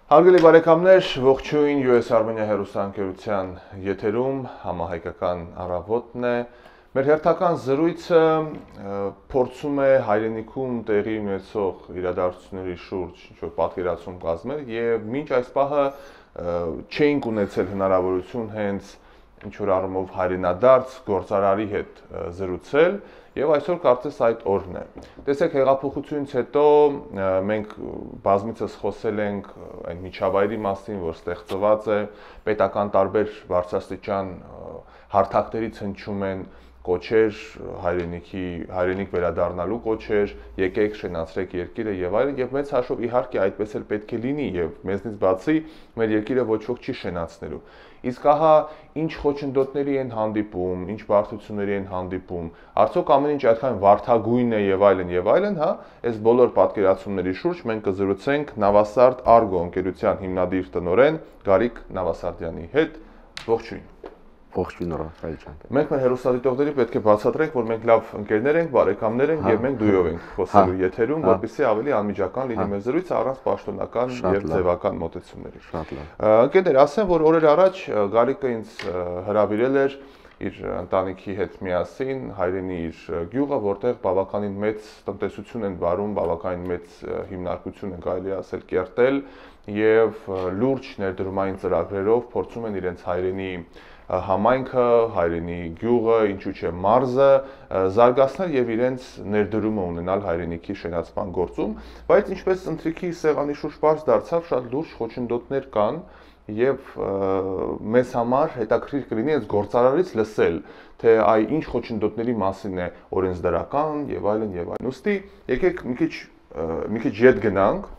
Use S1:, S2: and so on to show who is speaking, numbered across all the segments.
S1: Հարգելի բարեկամներ, ողջույն US Armenia հեռուստաընկերության եթերում համահայկական առավոտն է։ Մեր հերթական զրույցը փորձում է հայրենիքում տեղի ունեցող իրադարձությունների շուրջ ինչ-որ պատկերացում կազմել եւ մինչ այս պահը չէինք ունեցել հնարավորություն հենց ինչ-որ առումով հայրենադարձ գործարարի հետ զրուցել եւ այսօր կարծես այդ օրն է։ Տեսեք, հեղափոխությունից հետո մենք բազմիցս խոսել ենք այն միջավայրի մասին, որ ստեղծված է, պետական տարբեր բարձրաստիճան հարթակներից հնչում են կոչեր հայրենիք վերադառնալու կոչեր, եկեք շենացրեք երկիրը եւ այլն, եւ մեծ հաշվով իհարկե այդպես էլ պետք է լինի եւ մեզնից բացի մեր երկիրը ոչ ոք չի շենացնելու։ Իսկ ահա ինչ խոչընդոտների են հանդիպում, ինչ բարդությունների են հանդիպում, արդյոք ամեն ինչ այդքան վարդագույն է եւ այլն, հա, այս բոլոր պատկերացումների շուրջ մենք կզրուցենք Նավասարդ Argo ընկերության հիմնադիր տնօրեն Գարիկ Նավասարդյանի հետ։ Ողջույն։
S2: Ողջույն Ռաֆայել ջան։
S1: Մենք մեր հեռուստադիտողների պետք է բացատրենք, որ մենք լավ ընկերներ ենք, բարեկամներ ենք եւ մենք դույով ենք խոսելու եթերում, որպեսզի ավելի անմիջական լինի մեր զրույցը առանց պաշտոնական եւ ձևական մոտեցումների։
S2: Շատ լավ։
S1: Ընկերներ, ասեմ, որ օրեր առաջ Գարիկը ինձ հրավիրել էր իր ընտանիքի հետ միասին հայրենի իր գյուղը, որտեղ բավականին մեծ տնտեսություն են վարում, բավականին մեծ հիմնարկություն են կարելի ասել կերտել եւ լուրջ ներդրումային ծրագրերով փորձում են իրենց հայրենի համայնքը, հայրենի գյուղը, ինչու՞ չէ մարզը զարգացնել եւ իրենց ներդրումը ունենալ հայրենիքի շենացման գործում, բայց ինչպես ընթրիքի սեղանի շուրջ բարձ դարձավ, շատ լուրջ խոչընդոտներ կան եւ մեզ համար հետաքրքիր կլինի այս գործարարից լսել, թե այ ինչ խոչընդոտների մասին է օրենսդրական եւ այլն եւ այլն։ Ոստի եկեք մի քիչ յետ գնանք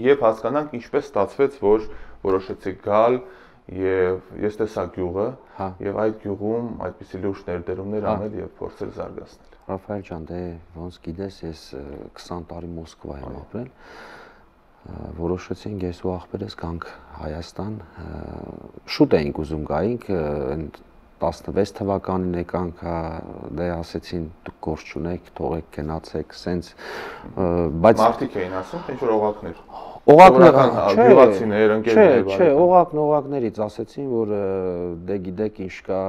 S1: եւ հասկանանք ինչպես ստացվեց, որ որոշեցիք գալ եւ ես տեսա գյուղը եւ այդ գյուղում այդպիսի լուրջ ներդրումներ անել եւ փորձել զարգացնել։
S2: Ռաֆայել ջան, դե ոնց գիտես, ես 20 տարի Մոսկվա եմ ապրել։ Որոշեցինք ես ու աղբերս գանք Հայաստան, շուտ էինք ուզում գայինք, 16 թվականին եկանք, դե ասեցին դուք գործ չունեք, թողեք գնացեք, սենց
S1: բայց մարդիկ էին ասում, ինչ որ օղակներ։
S2: Օղակներ, չէ, օղակներից ասեցին, որ դե գիտեք ինչ կա,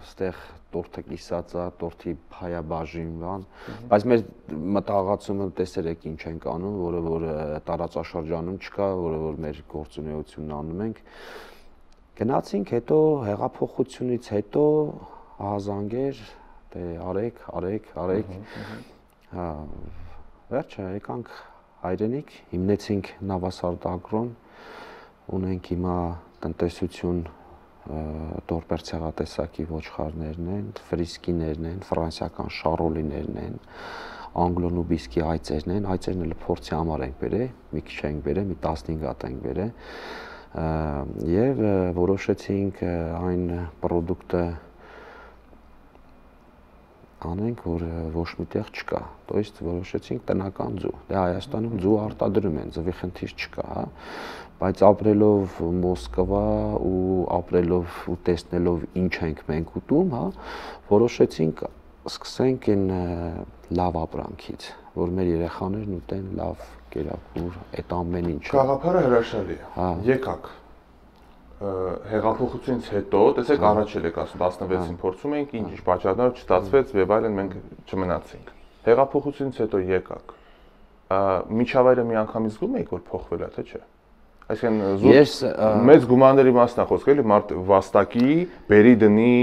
S2: ստեղ տորթը կիսած է, տորթի հայաբաժին բան, բայց մեր մտահղացումը տեսեր եք ինչ ենք անում, որը որ տարածաշրջանում չկա, որը որ մեր գործունեությունն անում ենք։ Գնացինք, հետո հեղափոխությունից հետո ահազանգեր, դե արեք, հա, վերջը եկանք հայրենիք, հիմնեցինք Նավասարդ Ագրոն, ունենք հիմա տնտեսություն, տորպեր ցեղատեսակի ոչխարներն են, ֆրիսկիներն են, ֆրանսիական շարոլիներն են, անգլոնուբիսկի այծերն են, այծերն էլ փորձի համար ենք բերել, մի քիչ ենք բերել, մի 15 հատ ենք բերել, եւ որոշեցինք այն պրոդուկտը անենք, որ ոչ միտեղ չկա, то есть որոշեցինք տնական ձու։ Դե Հայաստանում ձու արտադրում են, ձվի խնդիր չկա, հա, բայց ապրելով Մոսկվա ու ապրելով ու տեսնելով ինչ ենք մենք ուտում, հա, որոշեցինք սկսենք այն լավ ապրանքից, որ մեր երեխաներն ուտեն լավ կերակուր, այդ ամեն ինչը։
S1: Գաղափարը հրաշալի է։ Եկակ հեղափոխությունից հետո, տեսեք առաջ եք ասում 16-ին փորձում էինք, ինչ պատճառով չստացվեց եւ այլն մենք չմնացինք։ Հեղափոխությունից հետո եկակ։ Միջավայրը միանգամից զգում եք որ փոխվել է, թե չէ։ Այսինքն մեծ գումարների մասն է խոսքը, էլի մարդ վաստակի, բերի դնի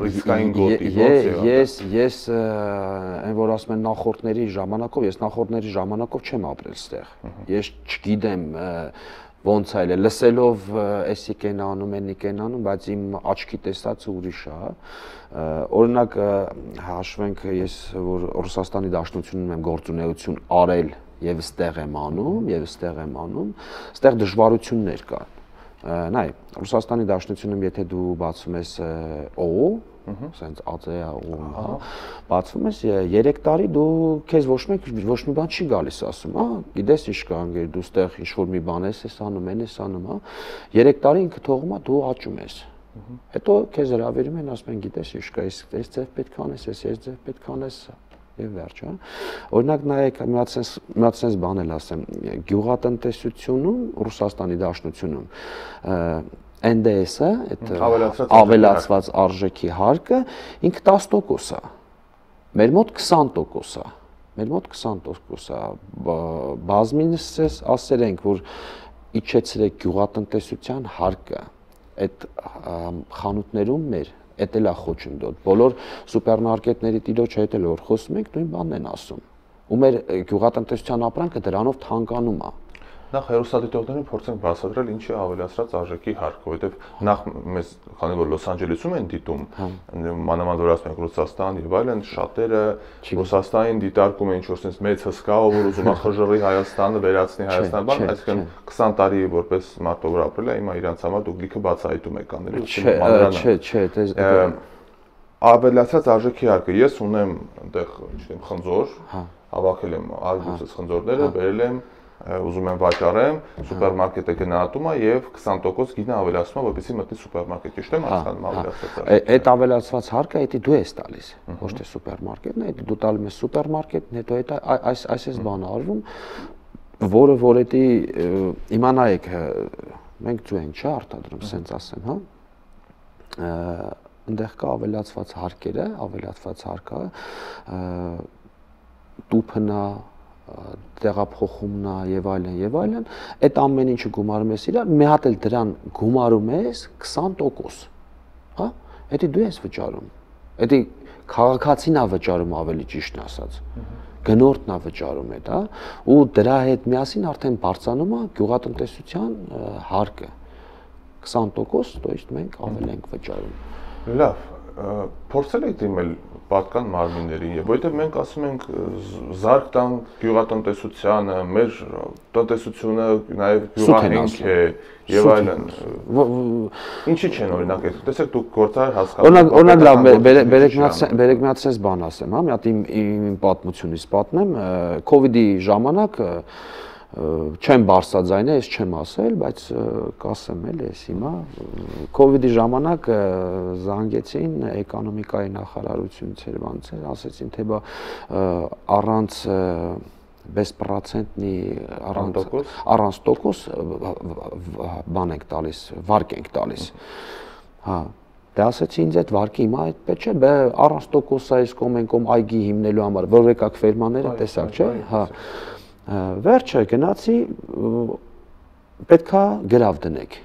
S1: ռիսկային գոտի,
S2: Ես այն որ ասում են նախորդների ժամանակով չեմ ապրել ստեղ։ Ես չգիտեմ ոնց այլ է, լսելով էսիկ են անում, բայց իմ աչքի տեսածը ուրիշ է։ Օրինակ հաշվենք ես որ Ռուսաստանի Դաշնությունում եմ գործունեություն արել եւ ստեղ եմ անում, ստեղ դժվարություններ կան։ Նայ, Ռուսաստանի Դաշնությունում եթե դու բացում ես օ, ասենց ԱԾ-ը օ, բացվում ես 3 տարի դու քեզ ոչ մի բան չի գալիս ասում, հա, գիտես ինչ կա անգեր դու ստեղ ինչ որ մի բան ես անում, հա, 3 տարի ինքը թողում է դու աճում ես։ Հետո քեզ հրավիրում են, ասում են գիտես ինչ կա, այս ձև պետք է անես, այս ձև պետք է անես, եւ վերջ, հա։ Օրինակ նայեք, մի հատ sense բան էլ ասեմ, գյուղատնտեսությունում Ռուսաստանի Դաշնությունում NDS-ը, այդ ավելացված արժեքի հարկը ինքը 10% է։ Մեր մոտ 20% է։ Մեր մոտ 20% է։ Բազմինս ասել ենք, որ իջեցրեք գյուղատնտեսության հարկը այդ խանութներում մեր, էդ էլ է խոչընդոտ։ Բոլոր սուպերմարկետների տիրոջ հետ էլ որ խոսում ենք, նույն բանն են ասում։ Ու մեր գյուղատնտեսության ապրանքը դրանով թանկանում է։
S1: Նախ հեռուստադիտողներին փորձենք բացատրել ինչի ավելացրած արժեքի հարկը, որովհետև նախ մեզ քանի որ Լոս Անջելեսում են դիտում, մանավանդ որ ասում ենք Ռուսաստան եւ այլն, շատերը Ռուսաստանին դիտարկում են ինչ-որ sense մեծ հսկա, որ ուզում է խժռի Հայաստանը, վերացնի Հայաստանը, բան, այսինքն 20 տարի որպես մարդով ապրել է, հիմա իրանց համար դուք լիքը բացահայտում եք անել,
S2: չէ,
S1: ավելացած արժեքի հարկը, ես ունեմ այնտեղ, չգիտեմ, խնձոր, հավաքել եմ արբուծած խնձորները, բերել եմ ուզում եմ վաճառեմ, սուպերմարկետը գնահատում է եւ 20% գինը ավելացնում է, որպեսզի մտնի սուպերմարկետ, ճիշտ եմ հասկանում ավելացած։
S2: Այդ ավելացված հարկը դա դու ես տալիս, ոչ թե սուպերմարկետն է, դու տալիս ես սուպերմարկետն, հետո դա այս բանը արվում, որը որ դա իմանայեք, մենք ձու ենք չէ արտադրում, սենց ասեմ, հա։ Այնտեղ կա ավելացված հարկերը, ավելացված հարկը տուփնա տեղափոխումն է եւ այլն, այդ ամեն ինչը գումարում ես իրար, մի հատ էլ դրան գումարում ես 20%, հա, դա դու ես վճարում, դա քաղաքացին է վճարում ավելի ճիշտ ասած, գնորդն է վճարում դա, ու դրա հետ միասին արդեն բարձրանում է գյուղատնտեսության հարկը 20%, то есть մենք ավել ենք վճարում։
S1: Լավ, փորձել եք դիմել պատկան մարմիններին, եւ որովհետեւ մենք ասում ենք զարգ տանք գյուղատնտեսությանը, մեր տնտեսությունը նաեւ գյուղահենք է եւ այլն։ Ինչի՞ չեն օրինակ այդ։ Տեսեք դուք գործար հասկանում։
S2: Օրինակ լավ, բերեք մի հատ sense բան ասեմ, հա, մի հատ իմ պատմությունից պատմեմ, COVID-ի ժամանակ չեմ բարձրաձայնել, ես չեմ ասել, բայց կասեմ էլ ես հիմա COVID-ի ժամանակ զանգեցին էկոնոմիկայի նախարարությունից երևանցել, ասեցին թե բա առանց բեսպրոցենտնի առանց տոկոս բան ենք տալիս, վարկ ենք տալիս։ Հա, դա ասեցի ինձ այդ վարկի հիմա այդպես չէ, բե առանց տոկոս այս կոմ այգի հիմնելու համար, որ եկակ ֆերմաները տեսակ, չէ, հա։ Վերջը գնացի պետքա գրավ դնեք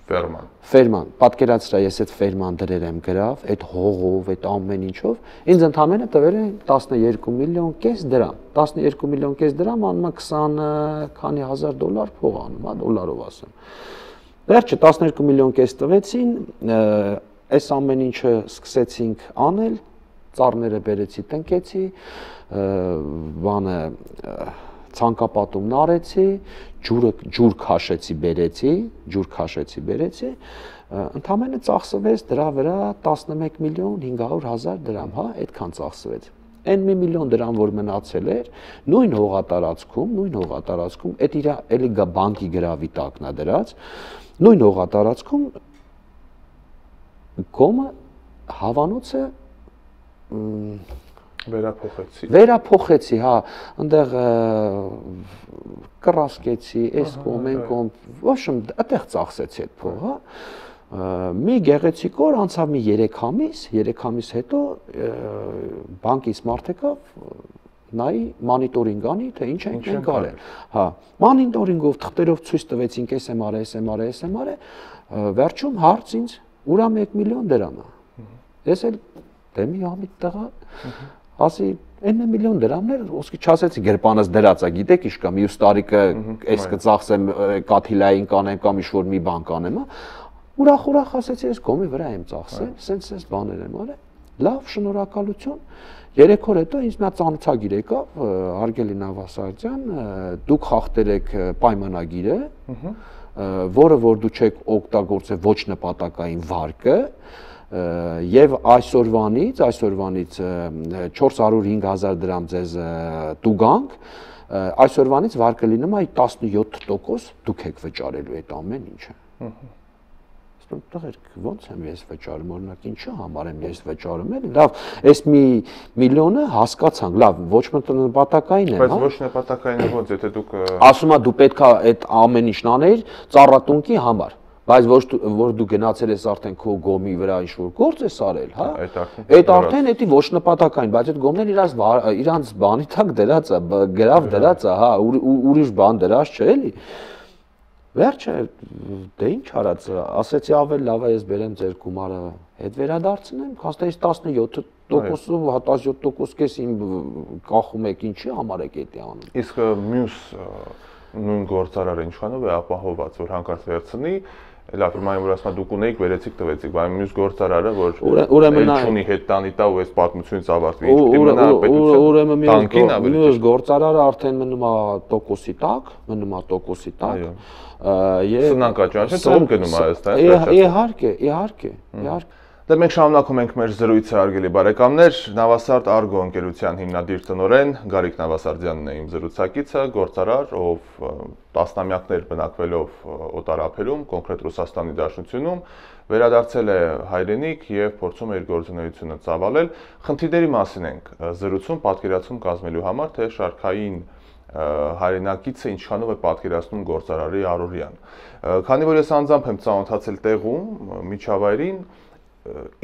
S2: ֆերման պատկերացրա ես այդ ֆերման դրեր եմ գրավ այդ հողով այդ ամեն ինչով ինձ ընդամենը տվել են 12 միլիոն կես դրամ 12 միլիոն կես դրամ անում է 20 քանի հազար դոլար փող անում, հա, դոլարով ասեմ վերջը 12 միլիոն կես տվեցին այս ամեն ինչը սկսեցինք անել ծառները բերեցի տնկեցի բանը ցանկապատումն արեցի, ջուր քաշեցի, բերեցի, ընդամենը ծախսվեց դրա վրա 11 միլիոն 500 հազար դրամ, հա, այդքան ծախսվեց։ Այն 1 միլիոն դրամ որ մնացել էր, նույն հողատարածքում, այդ իր էլի բանկի գրավի տակն է դրած, նույն հողատարածքում կոմը հավանոցը Վերափոխեցի, հա, այնտեղ կռասկեցի, այս կողմ, այն կողմ, ոչմ, այդտեղ ծախսեցի այդ փողը, մի գեղեցիկ օր անցավ մի 3 ամիս հետո բանկից մարդ եկավ, նայի մոնիտորինգ անի, թե ինչ ենք մենք արել, հա, մոնիտորինգով թղթերով ցույց տվեցինք, էս եմ արել, վերջում հարց ինձ, ուրա 1 միլիոն դրամ է, ես էլ դեմի ամիտ տղա, ասի 9 միլիոն դրամներ, ոսկի չասեցի գրպանս դրած է, գիտեք ինչ կա, մյուս տարիքը այս կծախսեմ կաթիլային կանեմ կամ ինչ-որ մի բան կանեմ, ուրախ ասեցի, ես կոմի վրա եմ ծախսել, սենց բաներ եմ արել, լավ, շնորհակալություն, 3 օր հետո ինձ մի հատ ծանոթագիր եկավ, հարգելի Նավասարդյան, դուք խախտել եք պայմանագիրը, որը որ դու չեք օգտագործել ոչ նպատակային վարկը, եւ այսօրվանից 405,000 դրամ ձեզ տուգանք, այսօրվանից վարկը լինում է 17% դուք եք վճարելու այդ ամեն ինչը։ Ասում եմ, տղերք, ո՞նց եմ ես վճարում, օրինակ ինչի համար եմ ես վճարում, էլի։ Լավ, այս մի միլիոնը հասկացանք, լավ, ոչ նպատակային է, հա։
S1: Բայց ոչ նպատակային է ոնց, եթե դուք
S2: ասում եմ, դու պետքա այդ ամեն ինչն անեիր ծառատունկի համար, բայց որ դու գնացել ես արդեն քո գոմի վրա ինչ-որ գործ ես արել, հա։ Այդ արդեն էդի ոչ նպատակային, բայց այդ գոմն իրանց բանի տակ դրած է, գրավ դրած է, հա, ուրիշ բան դրած չէ, էլի։ Վերջը դե ինչ արած, ասեցի ավել լավ է ես բերեմ ձեր գումարը հետ վերադարձնեմ, հաստատից 17%-ով, 17% կես իմ կախում եք ինչի համար եք էդի անում։
S1: Իսկ մյուս նույն գործարարը ինչքանով է ապահոված, որ հանկարծ վերցնի, լավ, հիմա որ ասում դուք ունեիք, վերեցիք, տվեցիք, բայց մյուս գործարարը, որ
S2: ուրեմն
S1: ունի հետ տանի տա ու այս պատմությունից ավարտվի, ինչ մնա պետություն, տանկին ավելի
S2: մյուս գործարարը արդեն մնում է տոկոսի տակ,
S1: Սնանկաճանչը ծով գնում է այստեղ։
S2: Իհարկե։
S1: Դե մենք շարունակում ենք մեր զրույցը, հարգելի բարեկամներ, Նավասարդ Argo ընկերության հիմնադիր տնօրեն Գարիկ Նավասարդյանն է իմ զրուցակիցը, գործարար, ով տասնամյակներ բնակվելով օտարափերում, կոնկրետ Ռուսաստանի Դաշնությունում, վերադարձել է հայրենիք եւ փորձում է իր գործունեությունը ծավալել։ Խնդիրների մասին ենք զրուցում պատկերացում կազմելու համար, թե շարքային հայրենակիցը ինչքանով է պատկերացնում գործարարի առօրյան։ Քանի որ ես անձամբ եմ ծանոթացել տեղում, միջավայրին,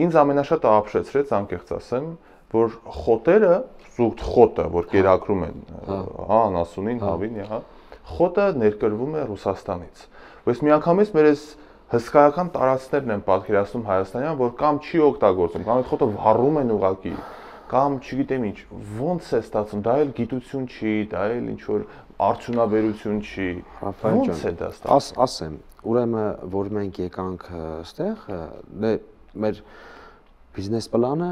S1: ինձ ամենաշատը ապշեցրեց, անկեղծ ասեմ, որ խոտերը, զուտ խոտը, որ կերակրում են, հա, անասունին, հավին, հա, խոտը ներկրվում է Ռուսաստանից։ Բայց միանգամից մեր այս հսկայական տարածքներն են պատկերացնում հայաստանյան, որ կամ չի օգտագործում, կամ այդ խոտը վառում են ուղակի, կամ չգիտեմ ինչ, ոնց է ստացվում, դա էլ գիտություն չի, դա էլ ինչ որ արդյունաբերություն չի, ոնց է դա ստացվում։
S2: Ասեմ, ուրեմն որ մենք եկանք այստեղ, դե մեր բիզնես պլանը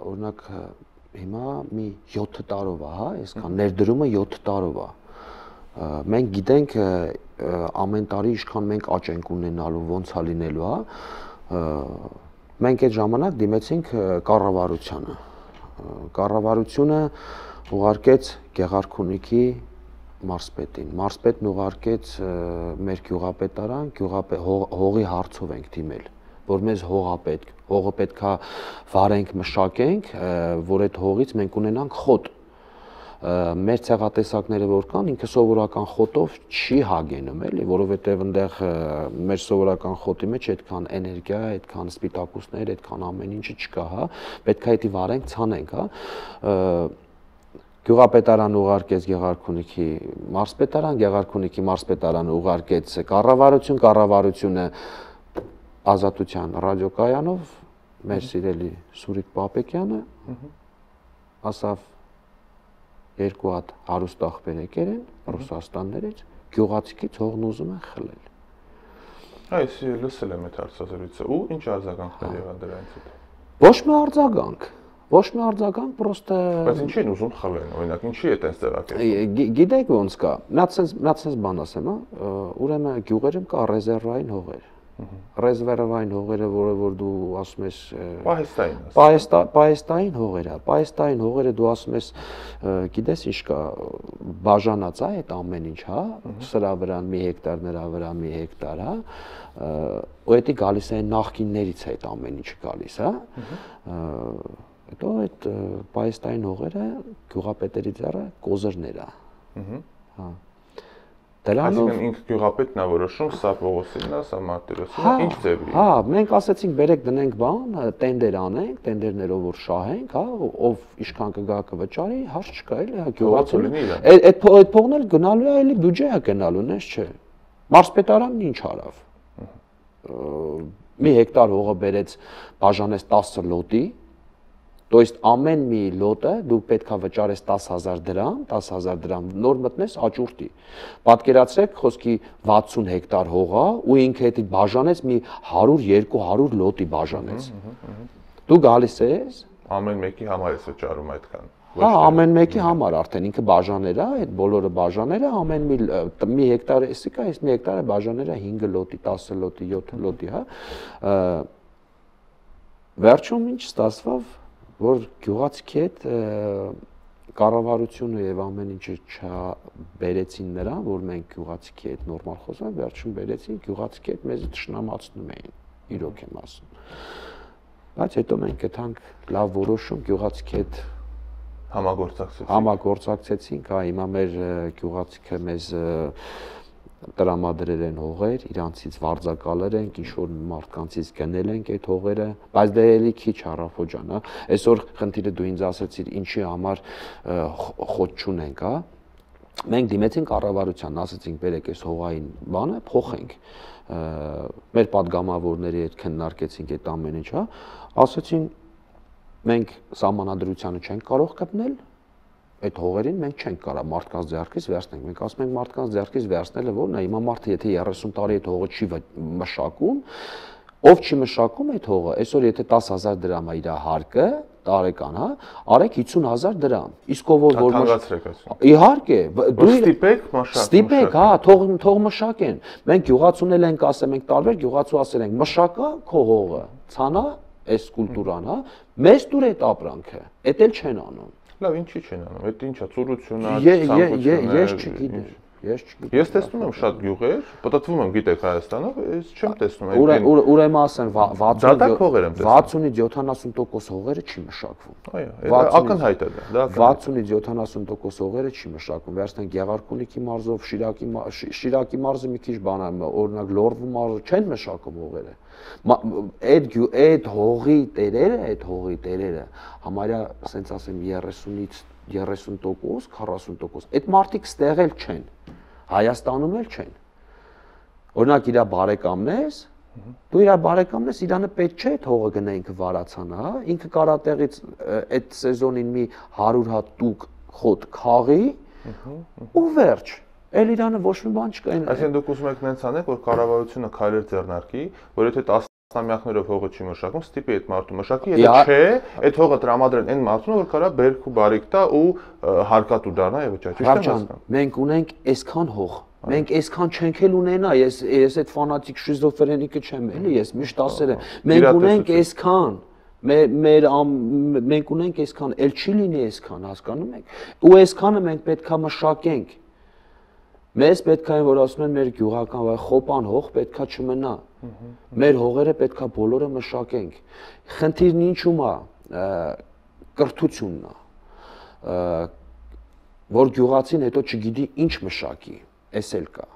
S2: օրինակ հիմա մի 7 տարով է, հա, այսքան ներդրումը 7 տարով է։ Մենք գիտենք ամեն տարի ինչքան մենք աճ ենք ունենալու, ոնց է լինելու, հա։ Մենք այդ ժամանակ դիմեցինք կառավարությանը։ Կառավարությունը ուղարկեց Գեղարքունիքի մարզպետին։ Մարզպետն ուղարկեց մեր գյուղապետարան, հողի հարցով ենք դիմել, որ մեզ հողը պետքա վարենք, մշակենք, որ այդ հողից մենք ունենանք խոտ։ Մեր ցեղատեսակները որ կան, ինքը սովորական խոտով չի հագենում, էլի, որովհետև այնտեղ մեր սովորական խոտի մեջ այդքան էներգիա, այդքան սպիտակուցներ, այդքան ամեն ինչը չկա, հա, պետքա դա վարենք, ցանենք, հա։ Գյուղապետարան ուղարկեց Գեղարքունիքի մարզպետարան, Գեղարքունիքի մարզպետարանը ուղարկեց կառավարությունը Ազատության ռադիոկայանով մեր սիրելի Սուրիկ Պապեկյանը ասավ երկու հատ հարուստ աղբեր եկել են Ռուսաստաններից, գյուղացիքից հողն ուզում են խլել։
S1: Այս լսել եմ այդ հարցազրույցը, ու ինչ արձագանքներ եղան դրանից հետո։
S2: Ոչ մի արձագանք, պրոստը։
S1: Բայց ինչի են ուզում խլեն, օրինակ, ինչի է այդպես ձևակերպում։
S2: Գիտեք ոնց կա, նա ցենց բան ասեմ, հա, ուրեմն գյուղերում կա ռեզերվային հողեր։ Ռեզերվային հողերը, որ դու ասում ես պահեստային հողերը, պահեստային հողերը դու ասում ես, գիտես ինչ կա, բաժանած է այդ ամեն ինչ, հա, սրա վրա մի հեկտար, նրա վրա մի հեկտար, հա, ու դա գալիս է նախկիններից է այդ ամեն ինչը գալիս, հա, հետո այդ պահեստային հողերը գյուղապետերի ձեռը կոզրներ է, հա։
S1: Այսինքն ինքը գյուղապետն է որոշում, սա Պողոսինն է, սա Մարտիրոսյանն է, ինչ ձևի։
S2: Հա, մենք ասացինք բերեք դնենք բան, տենդեր անենք, տենդերներով որ շահենք, հա, ով ինչքան կգա կվճարի, հարց չկա, էլի, հա, գյուղացին։ Այդ փողն էլ գնալու է, էլի բյուջե է գնալու, նես չէ։ Մարզպետարանն ինչ արավ։ Մի հեկտար հողը բերեց, բաժանեց 10 լոտի, То есть ամեն մի լոտը դու պետքա վճարես 10000 դրամ, նոր մտնես աճուրդի։ Պատկերացրեք, խոսքի 60 հեկտար հող է ու ինքը դա բաժանեց մի 100-200 լոտի բաժանեց։ Դու գալիս ես
S1: ամեն մեկի համար ես վճարում այդքան։
S2: Հա, ամեն մեկի համար արդեն ինքը բաժաներ է, այդ բոլորը բաժաներ է, ամեն մի հեկտար, էսիկա, այս մի հեկտարը բաժաներ է 5 լոտի, 10 լոտի, 7 լոտի, հա։ Վերջում ինչ ստացվավ, որ գյուղացիքի հետ կառավարությունը եւ ամեն ինչը չբերեցին նրան, որ մենք գյուղացիքի հետ նորմալ խոսանք, վերջում բերեցին գյուղացիքի հետ մեզ թշնամացնում էին, իրոք եմ ասում։ Բայց հետո մենք գտանք լավ որոշում գյուղացիքի հետ համագործակցեցինք, հա, հիմա մեր գյուղացիքը մեզ տրամադրել են հողեր, իրանցից վարձակալել ենք, ինչ որ մարդկանցից գնել ենք այդ հողերը, բայց դե էլի քիչ Արաֆո ջան, հա։ Այսօր խնդիրը դու ինձ ասացիր, ինչի համար խոտ չունենք, հա։ Մենք դիմեցինք կառավարության, ասացինք, բերեք այս հողային բանը, փոխենք։ Մեր падգամավորների հետ քննարկեցինք այդ ամեն ինչ, հա։ Ասացին, մենք սահմանադրությանը չենք կարող կպնել, այդ հողերին մենք չենք կարող մարդկանց ձեռքից վերցնենք։ Մենք ասում ենք մարդկանց ձեռքից վերցնելը որն է, հիմա մարդը եթե 30 տարի այդ հողը չի մշակում, ով չի մշակում այդ հողը, այսօր եթե 10,000 դրամ է իր հարկը, տարեկան, հա, արեք 50,000 դրամ։ Իսկ ով որ իհարկե,
S1: դու ստիպեք մշակեն։
S2: Ստիպեք, հա, թող մշակեն։ Մենք գյուղացունել ենք, ասեմ ենք տարբեր գյուղացու ասել ենք, մշակա քո հողը, ցանա այս կուլտուրան, հա, մեզ դուր այդ ապրանքը, էդ էլ չեն անում։
S1: Լավ, ինչի չեն անում, այդ ինչա, ծուրություն է,
S2: ցանկություն է։ Ես չգիտեմ։
S1: Ես տեսնում եմ շատ գյուղեր, պատտվում եմ, գիտեք Հայաստանով, ես չեմ տեսնում
S2: այդ։ Ուրեմն ասեն 60-ից 70% հողերը չի մշակվում։
S1: Այո, ակնհայտ է դա։
S2: 60-ից 70% հողերը չի մշակվում։ Վերցնենք Գեղարքունիքի մարզով, Շիրակի մարզը մի քիչ բան է, օրինակ Լոռվու մարզը չեն մշակում հողերը։ Այդ հողի տերերը համարյա, ասենց ասեմ 30-ից 30%, 40%։ Այդ մարդիկ ստեղ էլ չեն, Հայաստանում էլ չեն։ Օրինակ իր բարեկամն ես, դու իր բարեկամն ես, իրանը պետք չէ այդ հողը գնա ինքը վարացան, հա, ինքը կարա տեղից այդ սեզոնին մի 100 հատ տուկ խոտ քաղի ու վերջ։ Էլ իրանը ոչ մի բան չկա։
S1: Այսինքն դուք ուզում եք նենց անեք, որ կառավարությունը քայլեր ձեռնարկի, որ եթե 10 տասնամյակներով հողը չի մշակում, ստիպի այդ մարդու մշակի, եթե չէ, այդ հողը տրամադրեն այն մարդուն, որ կարա բերք ու բարիք տա ու հարկատու դառնա եւ վճարի։ Ճիշտ եմ ասում։
S2: Մենք ունենք այսքան հող, մենք այսքան չենք էլ ունենա, ես այդ ֆանատիկ շիզոֆրենիկը չեմ, էլի, ես միշտ ասել եմ, մենք ունենք այսքան, մենք ունենք այսքան, էլ չի լինի այսքան, հասկանում եք։ Ու այսքանը մենք պետքա մշակենք։ Մեզ պետք է որ ասում են մեր գյուղական խոպան հող պետքա չմնա։ Մեր հողերը պետքա բոլորը մշակենք։ Խնդիրն ինչու՞մ է, կրթությունն է, որ գյուղացին հետո չգիտի ինչ մշակի, էս էլ կա։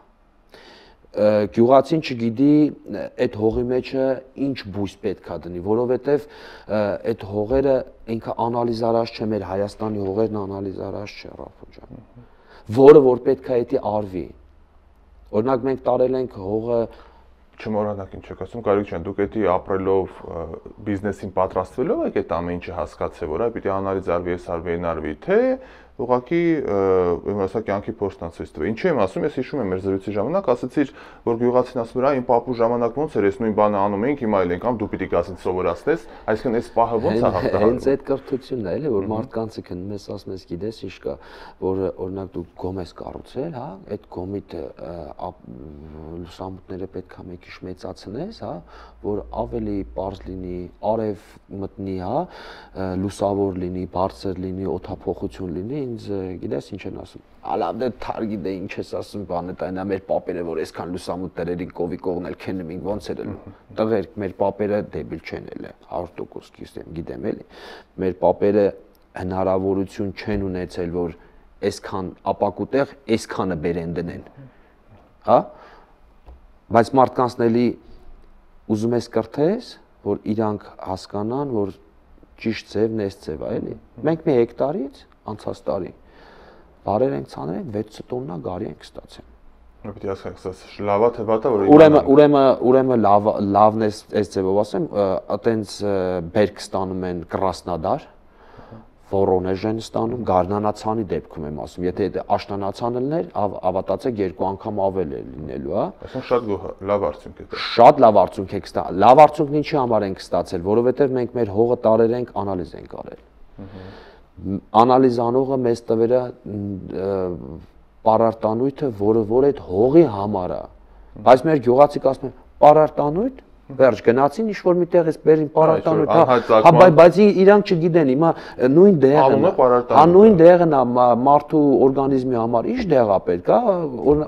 S2: Գյուղացին չգիտի այդ հողի մեջը ինչ բույս պետքա դնի, որովհետև այդ հողերը ինքը անալիզարած չէ, մեր Հայաստանի հողերն անալիզարած չէ, Ռաֆո ջան։ Որը որ պետք է դա արվի։ Օրինակ մենք տարել ենք հողը
S1: չմոռանաք ինչ եք ասում, Գարիկ ջան, դուք էդի ապրելով բիզնեսին պատրաստվելով եք այդ ամեն ինչը հասկացել, որ այ պիտի անալիզ արվի, այս արվի, այն արվի, թե ուղղակի իմասա կյանքի փորձն ցույց տվի։ Ինչու եմ ասում, ես հիշում եմ մեր զրույցի ժամանակ ասացիր, որ գյուղացին ասում էր, իմ պապու ժամանակ ոնց էր, ես նույն բանը անում էինք, հիմա էլ ենք ամ, դու պիտի գասին սովորացնես, այսինքն այս պահը ոնց է հաղթահարվում։
S2: Հենց այդ կրթությունն է, էլի, որ մարդկանցը քնում ես ասում ես, գիտես ինչ կա, որ օրինակ դու գոմ ես կառուցել, հա, այդ գոմիդ լուսամուտները պետքա մեկ քիչ մեծացնես, հա, որ ավելի པարզ լինի, արև մտնի, հա, լուսավոր լինի, բարձր լինի, օդափոխություն լինի, ինձ գիտես ինչ են ասում։ Ալավ դե թարգի դե ինչ ես ասում, բանը տայնա մեր պապերը, որ այսքան լուսամուտներին կովի կողնել քենում ենք, ոնց էր տղերք, մեր պապերը դեբիլ չեն էլ 100% գիտեմ էլի։ Մեր պապերը հնարավորություն չեն ունեցել, որ այսքան ապակուտեղ այսքանը բերեն դնեն։ Հա։ Բայց մարդկանցնելի ուզում ես կրթես, որ իրանք հասկանան, որ ճիշտ ձևն էս ձև է, էլի։ Մենք մի հեկտարից անցած տարի բարեր ենք ցանել ենք 6 տոննա գարի ենք ստացել։
S1: Պետք է ասած լավա թե վատա որ
S2: ուրեմն լավն է այս ձևով ասեմ, այտենց բերք ստանում են Կրասնոդար, Վորոնեժ են ստանում, Գարնանացանի դեպքում եմ ասում, եթե աշնանացանը լիներ, ավատացեք 2 անգամ ավել է լինելու, հա։
S1: Այսինքն շատ լավ արդյունք է դա։
S2: Շատ լավ արդյունք եք ստացել։ Լավ արդյունքն ինչի համար ենք ստացել, որովհետև մենք մեր հողը տարել ենք, անալիզ ենք արել։ Անալիզ անողը մեզ տվերը պարարտանույթը, որը որ այդ հողի համար է։ Բայց մեր գյուղացիք ասում են, պարարտանույթ, Վերջ գնացին ինչ որ միտեղից բերին պարարտանոց, հա, բայց իրանք չգիտեն, հիմա նույն դեղն, հա, նույն դեղն մարդու օրգանիզմի համար ինչ դեղ է պետք, հա,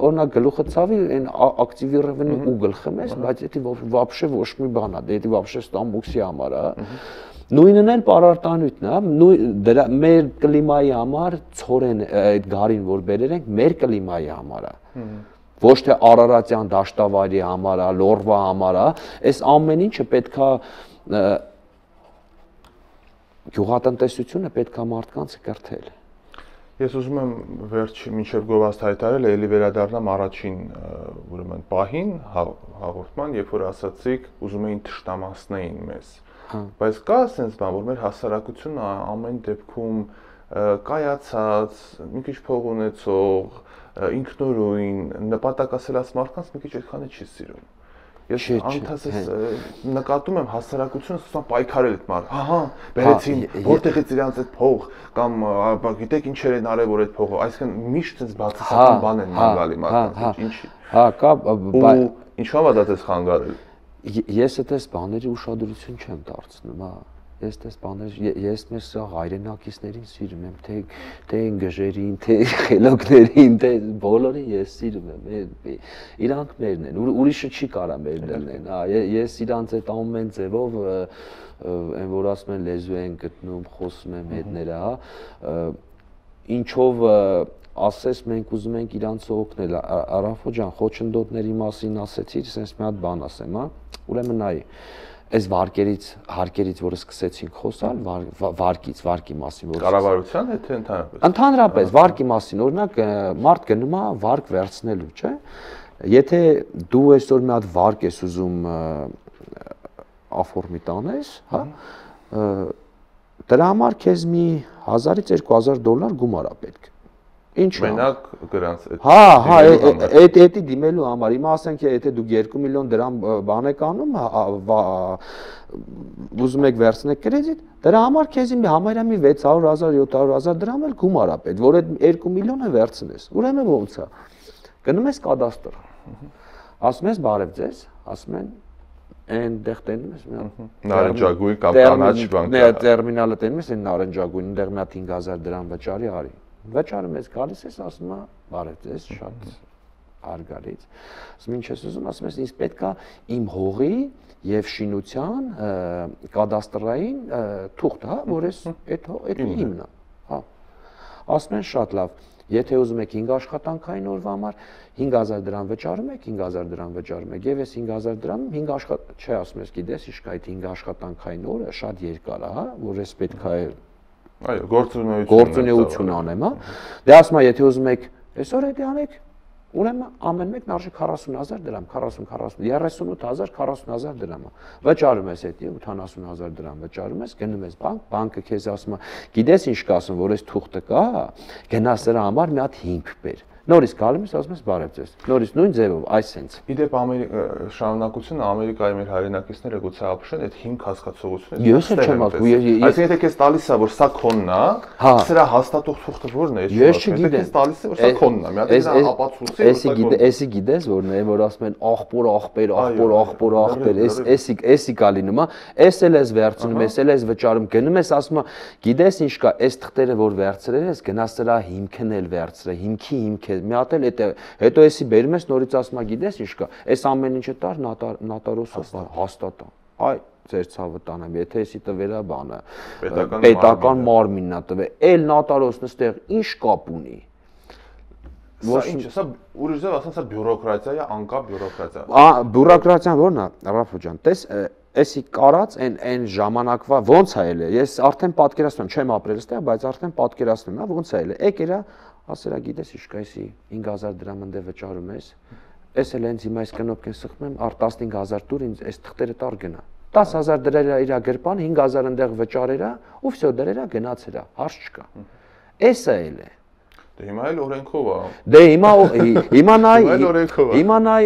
S2: օրինակ գլուխը ցավի, այն ակտիվիրованный ուգլ խմես, բայց դա вообще ոչ մի բան է, դա вообще ստամբուքսի համար է, նույնն էլ պարարտանյութն է, մեր կլիմայի համար ցորեն այդ գարին որ բերել ենք, մեր կլիմայի համար է։ Ոչ թե Արարատյան դաշտավայրի համար է, Լորվա համար է, այս ամեն ինչը պետքա գյուղատնտեսությունը պետքա մարդկանց կրթել։
S1: Ես ուզում եմ վերջի մինչև գովազդ հայտարարել, էլի վերադառնամ առաջին ուրեմն պահին հաղորդման, երբ որ ասացիք, ուզում էին թշնամացնեին մեզ։ Բայց կա sense բան, որ մեր հասարակությունը ամեն դեպքում կայացած, մի քիչ փող ունեցող, ինքնուրույն, նպատակասիրած մարդկանց մի քիչ այդքանը չի սիրում։ Ես անթասես նկատում եմ հասարակությունը սկսում պայքարել այդ մարդ։ Ահա, բերեցին, որտեղից իրանց այդ փող կամ գիտեք ինչեր են արել որ այդ փողը, այսինքն միշտ այնպես բացասական բան են մանգալի մարդկանց։ Ինչի։ Հա, կա, բայց ինչու՞ է դա դες խանգարել։
S2: Ես այդպես բաների ուշադրություն չեմ դարձնում, հա։ Ես այդպես բաներ, ես մեր սա հայրենակիցներին սիրում եմ, թե ընկերներին, թե խելոքներին, թե բոլորին ես սիրում եմ, իրանք մերն են, ուրիշը չի կարա մերն լինեն, հա, ես իրանց այդ ամեն ձևով, այն որ ասում են լեզու են գտնում, խոսում եմ հետները, հա, ինչով ասես մենք ուզում ենք իրանց օգնել, Արաֆո ջան, խոչընդոտների մասին ասեցիր, sense մի հատ բան ասեմ, հա, ուրեմն նայ Այս հարկերից, որը սկսեցինք խոսալ, վարկի մասին, որ
S1: կառավարության հետ թե ընդհանրապես։
S2: Ընդհանրապես վարկի մասին, օրինակ մարդ գնում է վարկ վերցնելու, չէ՞։ Եթե դու այսօր մի հատ վարկ ես ուզում աֆորմի տանես, հա, դրա համար քեզ մի 1000-ից 2000 դոլար գումար է պետք։ Ինչ
S1: մենակ գրանց այդ։
S2: Հա, էդի դիմելու համար։ Հիմա ասենք եթե դուք 2 միլիոն դրամ բան եք անում, ուզում եք վերցնեք կրեդիտ, դրա համար քեզ համարյա մի 600,000, 700,000 դրամ էլ գումար է պետք, որ այդ 2 միլիոնը վերցնես։ Ուրեմն ո՞նց է։ Գնում ես կադաստր։ Ասում ես բարև ձեզ, ասում են այնտեղ տենում ես մի հատ
S1: նարնջագույն կամ կանաչ բան։
S2: Տերմինալը տենում ես այն նարնջագույն, այնտեղ մի հատ 5000 դրամ վճարի արի։ Վճարը մեզ գալիս ես, ասում է, բարև ձեզ, շատ հարգալից։ Ասում ինչ ես ուզում, ասում ես, ինձ պետքա իմ հողի եւ շինության կադաստրային թուղթ, հա, որ այդ իմն է, հա։ Ասում են շատ լավ, եթե ուզում եք 5 աշխատանքային օրվա համար 5000 դրամ վճարում եք, 5000 դրամ վճարում եք, եւ այս 5000 դրամում 5 չէ, ասում ես, գիտես, իշք այդ 5 աշխատանքային օրը շատ երկար է, հա, որ ես պետքա
S1: Այո,
S2: գործունեություն անեմ, հա։ Դե ասում եմ, եթե ուզում եք, այսօր էդի անեք, ուրեմն ամեն մեկն արժի 40000 դրամ, 38000, 40000 դրամ։ Վճարում ես էդի 80000 դրամ վճարում ես, գնում ես բանկ, բանկը քեզ ասում է, գիտես ինչ կասում, որ այս թուղթը կա, գնաս դրա համար մի հատ հիմք բեր։ Նորից գալիս ես, ասում ես բարև ձեզ։ Նորից նույն ձևով, այսենց։
S1: Իդեպ շարունակությունը Ամերիկայի մեր հայրենակիցները գուցե ապշեն այդ հիմք հասկացողությունը։
S2: Ես չեմ ասում,
S1: այսինքն եթե քեզ տալիս է, որ սա քոնն է, սրա հաստատող թուղթը ո՞րն է։
S2: Ես չգիտեմ։
S1: Քեզ տալիս է, որ սա քոնն է, մի հատ դրա ապացույցի։
S2: Էսի գիտես որն է, որ ասում են աղբոր, էսի կա լինում, էս էլ ես վերցնում, էս էլ ես վճարում, գնում ես ասում ես, գիտես ինչ կա, այս թղթերը որ վերցրել ես, գնաս դրա հիմքն էլ վերցրե, հիմքի հիմք մի հատ էլ հետո էսի բերում ես նորից ասում ես գիտես ինչ կա այս ամեն ինչը տար նոտարոսը հաստատա այ ձեր ցավը տանեմ եթե էսի տվերա բանը պետական մարմինն է տվել էլ նոտարոսն էստեղ ինչ կապ ունի
S1: Սա ինչ է, սա ուրիշ ձև ասած սա բյուրոկրատիա է, անկապ բյուրոկրատիա։
S2: Բյուրոկրատիան ո՞րն է, Ռաֆո ջան, տես էսի կարած այն ժամանակվա ոնց է ելը։ Ես արդեն պատկերացնում եմ, չեմ ապրել այստեղ, բայց արդեն պատկերացնում եմ, ոնց է ելը։ Եկերա, ասերա գիտես ինչ կա էսի 5000 դրամ ընդ վճարում ես։ Էս էլ հենց հիմա այս կնոպկեն սխմեմ, առ 15000 տուր ինձ այս թղթերը տար գնա։ 10000 դրերա իր գրպան, 5000 ընդեղ վճարերա, ու վсё դրերա գնացերա, հարց չկա։ Էսա էլ է։
S1: Դե հիմա էլ օրենքով է։
S2: Դե հիմա նայ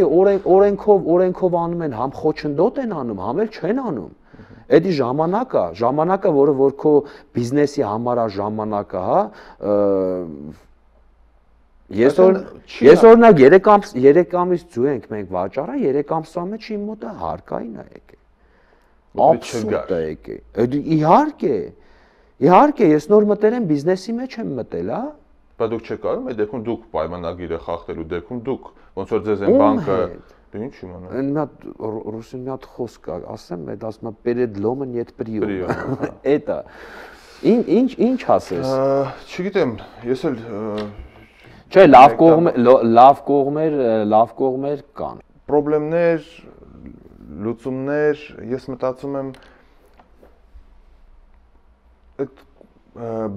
S2: օրենքով անում են, համ խոչընդոտ են անում, համ էլ չեն անում։ Էդի ժամանակը, որը որ քո բիզնեսի համար է ժամանակը, հա, Ես օրինակ 3 ամիս ձու ենք մենք վաճառը, 3 ամսվա մեջ իմ մոտը հարկային է եկել։ Աբսուրդ է եկել։ Իհարկե, ես նոր մտել եմ բիզնեսի մեջ եմ մտել, հա։
S1: Բայց դուք չեք կարող, այդ դեպքում դուք պայմանագիրը խախտելու դեպքում դուք ոնց որ ձեզ են բանկը դու ինչ իմանա։
S2: Այն մի հատ ռուսին մի հատ խոսք կա, ասեմ, այդ ասում է перед ломом нет приема։ Էտա։ Ինչ ասես։
S1: Չգիտեմ, ես էլ
S2: Չէ, լավ կողմեր կան։
S1: Պրոբլեմներ, լուծումներ, ես մտածում եմ այդ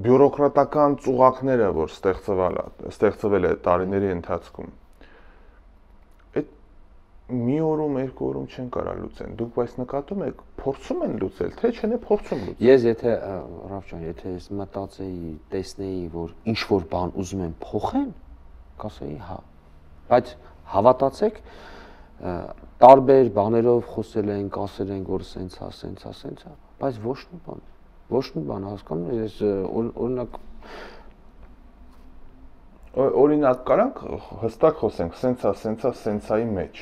S1: բյուրոկրատական ծուղակները, որ ստեղծվել է տարիների ընթացքում, այդ մի օրում, 2 օրում չեն կարող լուծեն։ Դուք բայց նկատում եք, փորձում են լուծել, թե չէ փորձում լուծել։
S2: Ես եթե Ռաֆ ջան, եթե ես մտածեի, տեսնեի, որ ինչ որ բան ուզում են փոխեն, կասեի հա։ Բայց հավատացեք, տարբեր բաներով խոսել ենք, ասել ենք, որ սենց է, բայց ոչ մի բան հասկանում ես
S1: օրինակ կարանք հստակ խոսենք սենցայի մեջ։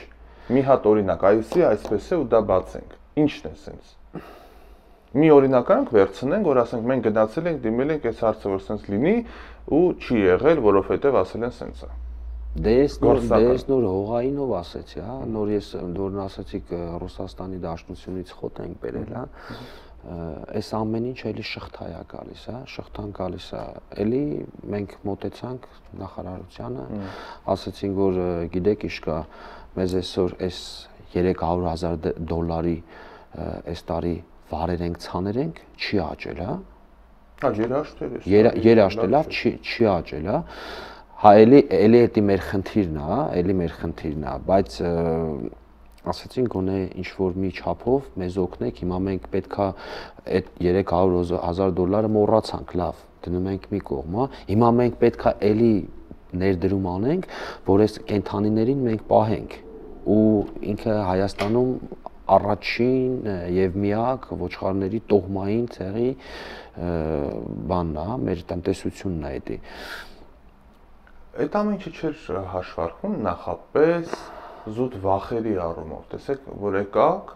S1: Մի հատ օրինակ, այսի այսպես է ու դա բացենք։ Ինչն է սենց։ Մի օրինակ կարանք վերցնենք, որ ասենք մենք գնացել ենք, դիմել ենք այս հարցը որ սենց լինի ու չի եղել, որովհետև ասել են սենց է։
S2: Դե ես նոր հողայինով ասեցի, հա, նոր ես նորն ասեցիք Ռուսաստանի Դաշնությունից խոտ ենք բերել, հա։ Այս ամեն ինչ էլի շղթա է գալիս, հա, շղթան գալիս է։ Էլի մենք մոտեցանք նախարարությանը, ասացինք, որ գիտեք ինչ կա, մեզ այսօր այս $300,000 այս տարի վարեր ենք, ցաներ ենք, չի աճել, հա։
S1: Հա,
S2: երաշտել, լավ, չի աճել, հա։ Հա, էլի էտի մեր խնդիրն է, էլի մեր խնդիրն է, բայց ասացին գոնե ինչ որ մի չափով մեզ օգնեք, հիմա մենք պետքա այդ $300,000 մոռացանք, լավ, դնում ենք մի կողմ, հա։ Հիմա մենք պետքա էլի ներդրում անենք, որ այս կենթանիներին մենք պահենք ու ինքը Հայաստանում առաջին եւ միակ ոչխարների տոհմային ցեղի բանն է, մեր տնտեսությունն է էդի։
S1: Այդ ամեն ինչը չէր հաշվարկվում նախապես զուտ վախերի առումով։ Տեսեք, որ եկաք,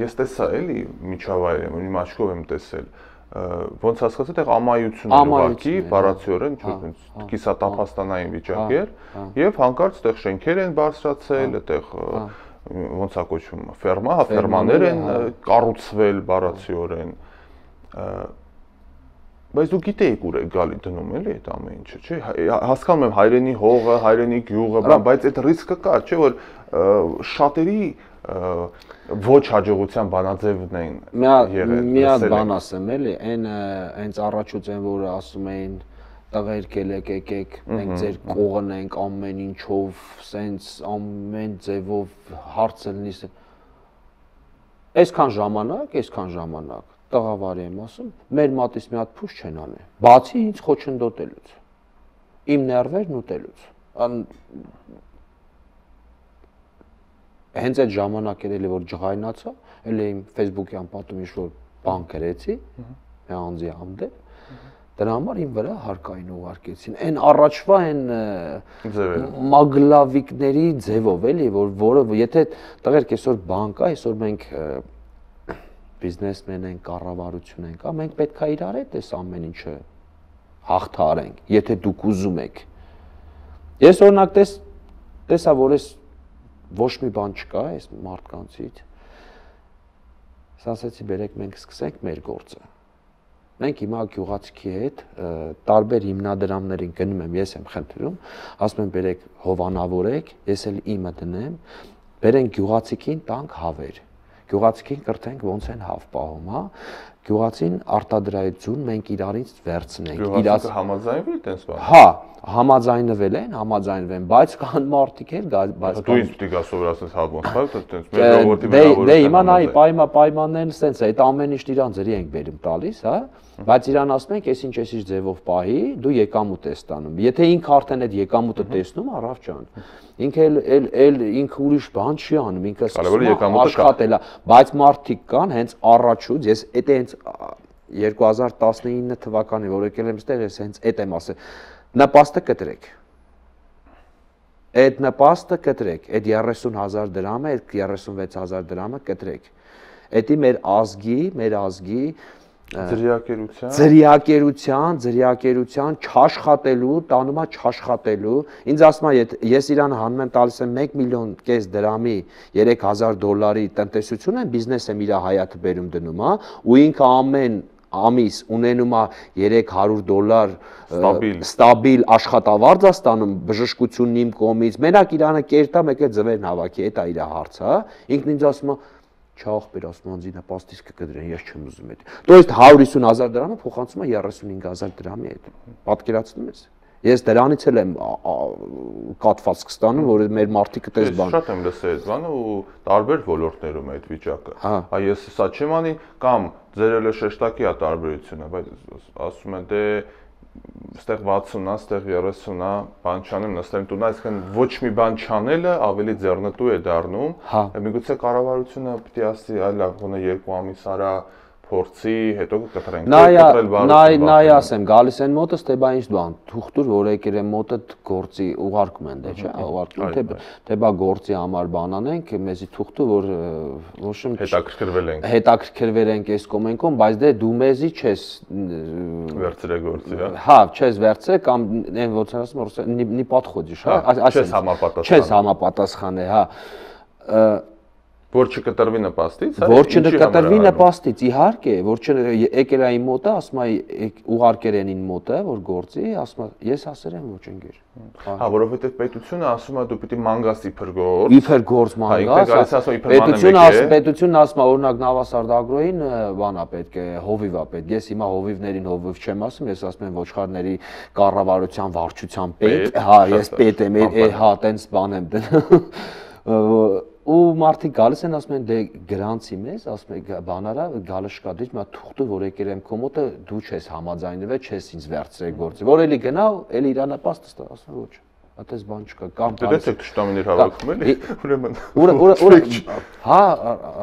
S1: ես տեսա էլի միջավայրը, իմ աչքով եմ տեսել, ոնց հասկացա, այդտեղ ամայություն էր ուղղակի, բառացիորեն, կիսատափաստանային վիճակ էր, եւ հանկարծ այդտեղ շենքեր են բարձրացել, այդտեղ ոնց է կոչվում, ֆերմա, հա, ֆերմաներ են կառուցվել բառացիորեն։ Բայց դու գիտեիք ուր է գալի դնում էլի այդ ամեն ինչը, չէ՞։ Հասկանում եմ հայրենի հողը, հայրենի գյուղը, բայց այդ ռիսկը կար, չէ՞ որ շատերի ոչ հաջողության բանաձևն են եղել։
S2: Մի հատ բան ասեմ էլի, այն հենց առաջուց են որ ասում էին տղերք եկեք, մենք ձեր կողն ենք ամեն ինչով, սենց ամեն ձևով հարցը լինի։ Այսքան ժամանակ տղավարի եմ ասում, մեր մատից մի հատ փուշ չեն անի, բացի ինձ խոչընդոտելուց, իմ ներվերն ուտելուց, հենց այդ ժամանակ էր էլի որ ջղայնացա, էլի իմ Facebook-յան պատում ինչ-որ բան գրեցի, մի անձի հանդեպ, դրա համար իմ վրա հարկային ուղարկեցին, այն առաջվա այն մագլավիկների ձևով էլի, որը եթե տղերք այսօր բան կա, այսօր մենք բիզնեսմեն ենք, կառավարություն ենք, մենք պետք է իրար հետ այս ամեն ինչը հաղթարենք, եթե դուք ուզում եք։ Ես օրինակ տեսա, որ ես ոչ մի բան չկա այս մարդկանցից, ասացի բերեք մենք սկսենք մեր գործը։ Մենք հիմա գյուղացիքի հետ տարբեր հիմնադրամներին գնում եմ, ես եմ խնդրում, ասում եմ բերեք հովանավորեք, ես էլ իմը դնեմ, բերենք գյուղացիքին տանք հավեր։ Գյուղացիքին կրթենք ոնց են հավ պահում, հա։ Գյուղացին արտադրայդ ձուն մենք իրարից վերցնենք։
S1: Գյուղացիքը համաձայնվել տենց բան։
S2: Հա, համաձայնվել են, բայց կան մարդիկ էլ, բայց
S1: դու ինձ պիտի գաս սովորացնես հա ոնց, հա, տենց մեր ժողովրդի վերավորությունը։
S2: Դե հիմա նայ պայմաններն սենց է, այդ ամեն ինչ իրան ձրի ենք բերում տալիս, հա։ Բայց իրան ասում ենք, այսինչ ձևով պահի, դու եկամուտ ես ստանում։ Եթե ինքը արդեն այդ եկամուտը տեսնում, Ռաֆ ջան, ինքը ինքը ուրիշ բան չի անում, ինքը աշխատել է, բայց մարդիկ կան հենց առաջուց, ես էդ հենց 2019 թվականին որ եկել եմ այստեղ, ես հենց էդ եմ ասել, նպաստը կտրեք, Այդ նպաստը կտրեք, այդ 30,000 դրամը, այդ 36,000 դրամը կտրեք։ Էդի մեր ազգի ձրիակերության չաշխատելու, տանում է չաշխատելու։ Ինձ ասում է, ես իրան հանում եմ տալիս եմ 1,5 միլիոն դրամի $3,000 տնտեսություն եմ, բիզնես եմ իր հայաթը բերում դնում, հա, ու ինքը ամեն ամիս ունենում է $300 ստաբիլ աշխատավարձ է ստանում, բժշկությունն իմ կողմից, մենակ իրանը կերտա, մեկ էլ ձվերն հավաքի, դա է իր հարցը, հա։ Ինքն ինձ ասում է, չախպեր, ասում անձի նպաստից կկտրեն, ես չեմ ուզում այդ։ То есть 150,000 դրամը փոխանցում է 35,000 դրամի հետ։ Պատկերացնում ես։ Ես դրանից էլ եմ կատվածք ստանում, որ մեր մարդիկը տես բան։
S1: Շատ եմ լսել այդ բանը ու տարբեր ոլորտներում է այդ վիճակը։ Հա ես սա չեմ անի կամ ձեր էլ շեշտակի է տարբերությունը, բայց ասում են դե ստեղ 60-ա, ստեղ 30-ա, բան չանեմ, նստեմ տունը, այսինքն ոչ մի բան չանելը ավելի ձեռնտու է դառնում։ Միգուցե կառավարությունը պիտի ասի, այլ լավ, գոնե 2 ամիս արա փորձի, հետո կտրենք։
S2: Նայ ասեմ, գալիս են մոտս, թե բա ինչ բան, թուղթուր, որ եկել են մոտդ գործի ուղարկում են, դե չէ, ուղարկում, թե բա գործի համար բան անենք, մեզի թուղթու, որ ոչ եմ հետաքրքրվել ենք այս կոմենկոն, բայց դե դու մեզի չես
S1: վերցրել գործի,
S2: հա, չես վերցրել կամ այն ոնց ասում, նի պատխոդիշ, հա, չես համապատասխանել, հա։
S1: Որ չկտրվի նպաստից, հա։
S2: Որ չկտրվի նպաստից, իհարկե, որ եկել է իմ մոտը, ասում է ուղարկել են ին մոտը, որ գործի, ասում է ես ասել եմ ոչ ընկեր։
S1: Հա, որովհետև պետությունը ասում է դու պիտի մանգաս իբր գործ։
S2: Իբր գործ մանգաս։ Պետությունն ասում է օրինակ Նավասարդագրոյին բան է պետք է, հովիվ է պետք։ Ես հիմա հովիվներին հովիվ չեմ ասում, ես ասում եմ ոչխարների կառավարության վարչության պետ, հա, ես պետ եմ, հա, տենց բան եմ դնում։ Ու մարդիկ գալիս են ասում են դե գրանցի մեզ, ասում են բանարա գալը շկադիր, մա թուղթը որ եկել եմ քո մոտը դու չես համաձայնվել, չես ինձ վերցրել գործի։ Որ էլի գնա, էլի իր նպաստը ստա, ասում ոչ։ Այդպես բան չկա, կամ
S1: դե թշնամիներ հավաքում էլի, ուրեմն։
S2: Հա,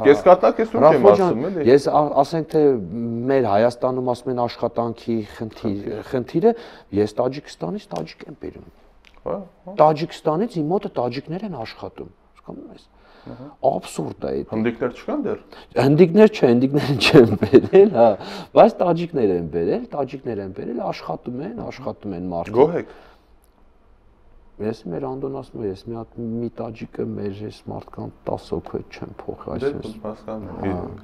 S1: կեսկատակ ես ու չեմ ասում էլի։
S2: Ես ասենք թե մեր Հայաստանում ասում են աշխատանքի խնդիրը, ես Տաջիկստանից տաջիկ եմ բերում։
S1: Հա։
S2: Տաջիկստանից իմ մոտը տաջիկներ են աշխատում։ Հասկանում ես։ Աբսուրդ է դա։
S1: Հնդիկներ չկան դեռ։
S2: Հնդիկներ չէ, հնդիկները չեն բերել, հա, բայց տաջիկներ են բերել, աշխատում են մարդիկ։
S1: Գոհ եք։
S2: Ես մեր Անդոն ասում եմ, ես մի տաջիկը մեր այս մարդկանց 10 հոգու հետ չեմ փոխի, այսպես։
S1: Հասկանում եմ։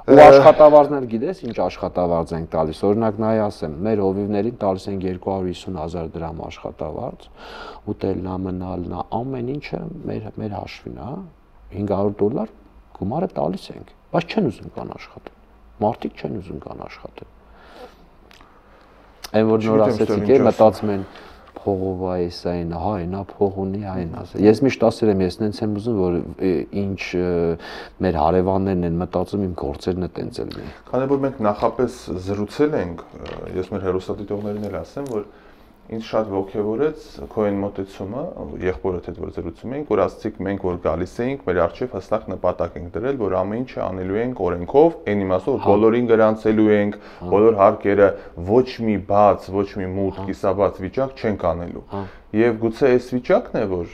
S2: Ու աշխատավարձներ գիտես, ինչ աշխատավարձ ենք տալիս։ Օրինակ նայ ասեմ, մեր հովիվներին տալիս են 250,000 դրամ աշխատավարձ, ուտելնա, մնալնա, ամեն ինչը մեր հաշվին, հա, $500 գումարը տալիս ենք, բայց չեն ուզում կան աշխատել։ Մարդիկ չեն ուզում կան աշխատել։ Այն որ նոր ասեցիք, մտածում են փողովա էս այն, հա, այնա փող ունի, այն ասել։ Ես միշտ ասել եմ, ես նենց եմ ուզում, որ ինչ մեր հարևաններն են մտածում, իմ գործերն է տենց էլ լինի։
S1: Քանի որ մենք նախապես զրուցել ենք, ես մեր հեռուստադիտողներին էլ ասեմ, որ ինձ շատ ոգևորեց քո այն մոտեցումը, եղբորդ հետ որ զրուցում էինք, որ ասացիք մենք որ գալիս էինք, մեր առջև հստակ նպատակ ենք դրել, որ ամեն ինչը անելու ենք օրենքով, այն իմաստով բոլորին գրանցելու ենք, բոլոր հարկերը ոչ մի բաց, ոչ մի մութ, կիսաբաց վիճակ չենք անելու։ Եվ գուցե այս վիճակն է, որ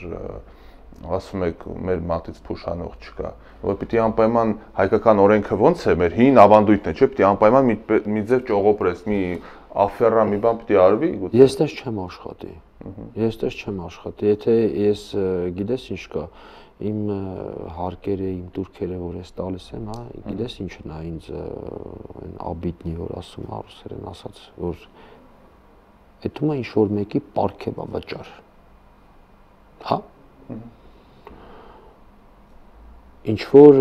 S1: ասում եք մեր մատից փուշանող չկա, որ պիտի անպայման հայկական օրենքը ոնց է, մեր հին ավանդույթն է, չէ՞, պիտի անպայման մի ձև ճողոպրես, մի աֆերա մի բան պիտի արվի։
S2: Ես դες չեմ աշխատի։ Եթե ես գիտես ինչ կա, իմ հարկերը, իմ турքերը որ ես տալիս եմ, հա, գիտես ինչն է ինձ այն աբիտնի որ ասում է ռուսերեն ասած, որ այդում է ինչ որ մեկի պարքև է վճար։ Հա։ Ինչ որ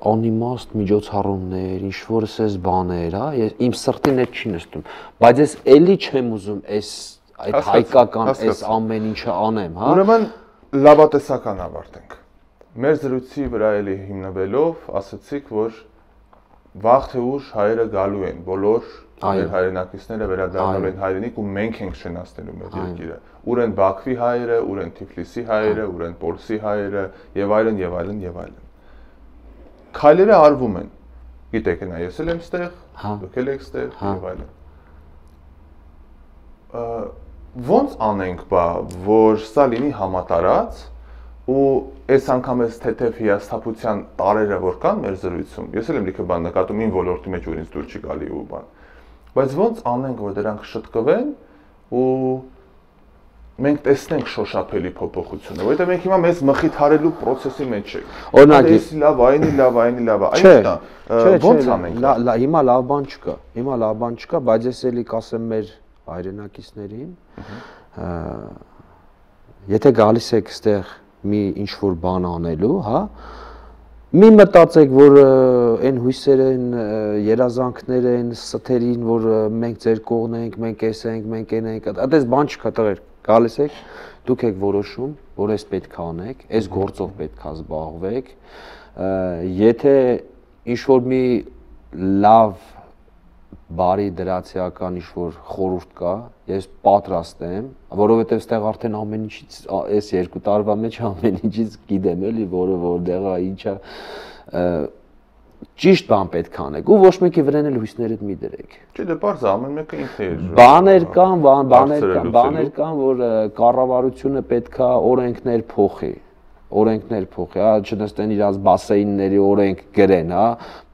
S2: անիմաստ միջոցառումներ, ինչ որ էս բաներ, հա, իմ սրտին այդ չի նստում, բայց ես էլի չեմ ուզում այդ հայկական այս ամեն ինչը անեմ, հա։
S1: Ուրեմն լավատեսական ավարտենք։ Մեր զրույցի վրա էլի հիմնվելով ասացիք, որ վաղ թե ուշ հայերը գալու են, բոլոր մեր հայրենակիցները վերադառնալու են հայրենիք ու մենք ենք շնացնելու մեր երկիրը։ Ուր են Բաքվի հայերը, ուր են Թիֆլիսի հայերը, ուր են Պոլսի հայերը եւ այլն եւ այլն եւ այլն։ Քայլերը արվում են։ Գիտեք, նա ես էլ եմ ստեղ, դուք էլ եք ստեղ եւ այլն։ ոնց անենք բա, որ սա լինի համատարած ու այս անգամ էս թեթև հիասթափության տարերը որ կան մեր զրույցում, ես էլ եմ լիքը բան նկատում ին ոլորտի մեջ որ ինձ դուր չի գալի ու բան, բայց ոնց անենք որ դրանք շտկվեն ու մենք տեսնենք շոշափելի փոփոխությունը, որովհետև մենք հիմա մեզ մխիթարելու process-ի մեջ ենք։ Օրինակ, էսի լավ, այնի լավ, այնի լավ, այնա ոնց անենք։
S2: Հիմա լավ բան չկա, հիմա լավ բան չկա, բայց ես էլի կասեմ մեր հայրենակիցներին, եթե գալիս եք այստեղ մի ինչ-որ բան անելու, հա, մի մտածեք, որ այն հույսեր են, երազանքներ են, սթերին, որ մենք ձեր կողն ենք, մենք էս ենք, մենք այն ենք, այդպես բան չկա տղեր, գալիս եք, դուք եք որոշում, որ այս պետք է անեք, այս գործով պետք է զբաղվեք, եթե ինչ-որ մի լավ բարի դրացիական ինչ-որ խորհուրդ կա, ես պատրաստ եմ, որովհետև ստեղ արդեն ամեն ինչից, այս 2 տարվա մեջ ամեն ինչից գիտեմ էլի, որտեղա ինչա ճիշտ բան պետք է անեք ու ոչ մեկի վրան էլ հույսներդ մի դրեք։
S1: Չէ, դե բարձ ամեն մեկը ինքն է։
S2: Բաներ կան, որ կառավարությունը պետք է օրենքներ փոխի, հա, չնստեն իրաց բասեինների օրենք գրեն, հա,